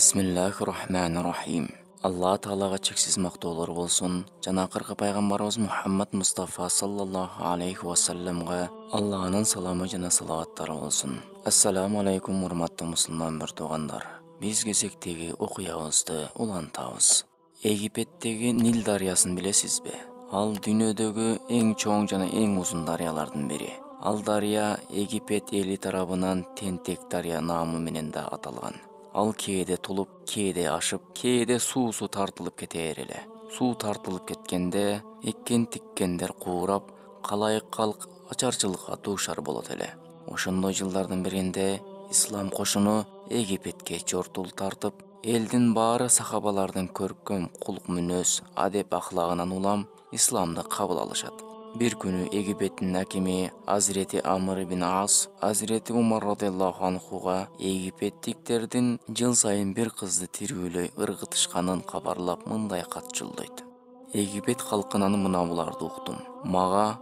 Бисмиллахир-рахманир-рахим. Алла Таалага чексиз мактоолор болсун. Жана акыркы пайгамбарыбыз Мухаммад Мустафа саллаллаху алейхи ва салламга Алланын саламы жана салаваттары болсун. Ассаламу алейкум, урматтуу мусулман туугандар. Биз кезектеги окуябызды улантабыз. Египеттеги Нил дарыясын билесизби? Ал дүйнөдөгү эң чоң жана эң узун дарыялардын бири. Ал дарыя Египет эли тарабынан Тентек дарыя наамы менен да аталган. Ал кээде тулуп, кээде ашып, кээде суусу тартылып кете бер эле. Суу тартылып кеткенде эккен-тиккендер куурап, калайык калк ачарчылыкка дуушар болот эле. Ошондой жылдардын биринде ислам кошуну Египетке чортул тартып, элдин баары сахабалардын көркөм кулк мүнөз, адеп ахлагынан улам исламды кабыл алышат. Бир күнү Египеттин акими Азирети Амр ибн Ас Азирети Умар радыйаллаху анхуга египеттиктердин жыл сайын бир кызды тирүүлөй ыргытышканын кабарлап мындай кат жолдойт. Египет калкынан мына буларды уктум. Мага,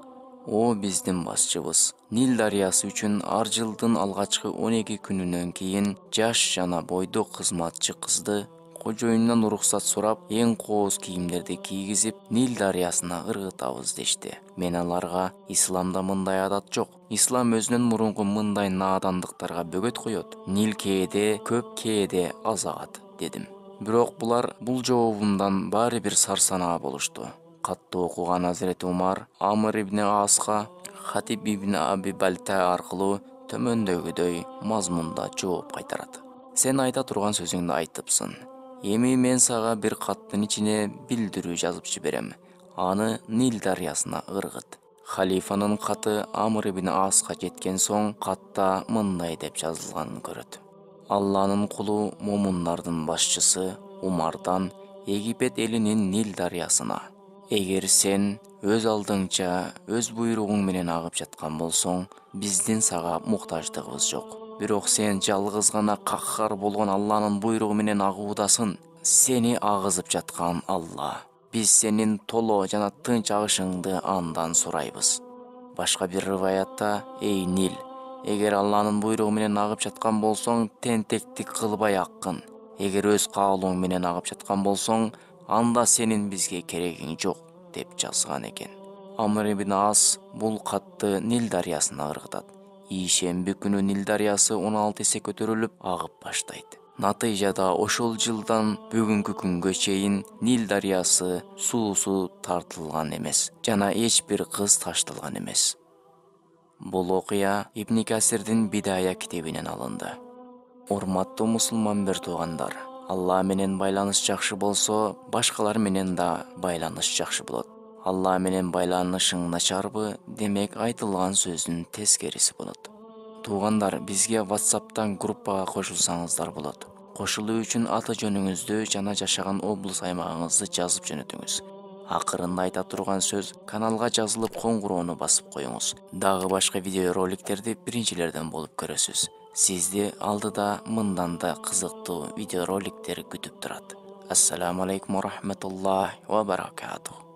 о биздин башчыбыз, Нил дарыясы үчүн ар жылдын алгачкы 12 күнүнөн кийин жаш жана бойдок кызматчы кызды кожоюндан уруксат сурап, эң кооз кийимдерди кийгизип, Нил дарыясына ыргытабыз дешти. Мен аларга исламда мындай адат жок. Ислам өзүнөн мурунку мындай наадандыктарга бөгөт коет. Нил кээде көп, кээде аз агат, дедим. Бирок булар бул жообумдан баары бир сарсанаа болушту. Катты окуган Азирети Умар Амр ибн Аска Хатиб ибн Аби Балта аркылуу төмөндөгүдөй мазмунда жооп кайтарат. Сен айта турган сөзүңдү айтыпсың. Эми мен сага бир каттын ичине билдирүү жазып жиберем. Аны Нил дарыясына ыргыт. Халифанын каты Амр ибн Аска жеткен соң катта мындай деп жазылганын көрөт. Алланын кулу момундардын башчысы Умардан Египет элинин Нил дарыясына: эгер сен өз алдыңча өз буйругуң менен агып жаткан болсоң, биздин сага муктаждыгыбыз жок. Бирок сен жалгыз гана каххар болгон Алланын буйругу менен агуудасың. Сени агызып жаткан Алла. Биз сенин толо жана тынч агышыңды андан сурайбыз. Башка бир риваятта: эй Нил, эгер Алланын буйругу менен агып жаткан болсоң, тентектик кылбай аккын. Эгер өз каалооң менен агып жаткан болсоң, анда сенин бизге керегиң жок, деп жазган экен. Амр ибн Ас бул катты Нил дарыясына ыргытат. Ишемби күнү Нил дарыясы 16 эсе көтөрүлүп агып баштайт. Натыйжада ошол жылдан бүгүнкү күнгө чейин Нил дарыясы суусу тартылган эмес жана эч бир кыз ташталган эмес. Бул окуя Ибн Касирдин Бидая китебинен алынды. Урматтуу мусулман туугандар, Алла менен байланыш жакшы болсо, башкалар менен да байланыш жакшы болот. Алла менен байланышың начарбы, демек айтылган сөздүн тескериси болот. Туугандар, бизге WhatsApp'тан группага кошулсаңыздар болот. Кошулуу үчүн аты жөнүңүздү жана жашаган облус аймагыңызды жазып жөнөтүңүз. Акырында айта турган сөз каналга жазылып коңгуроону басып коюңуз. Дагы башка видео роликтерди биринчилерден болуп көрөсүз. Сизди алдыда мындан да кызыктуу видео роликтер күтүп турат. Ассаламу алейкум ва рахматуллахи ва баракатух.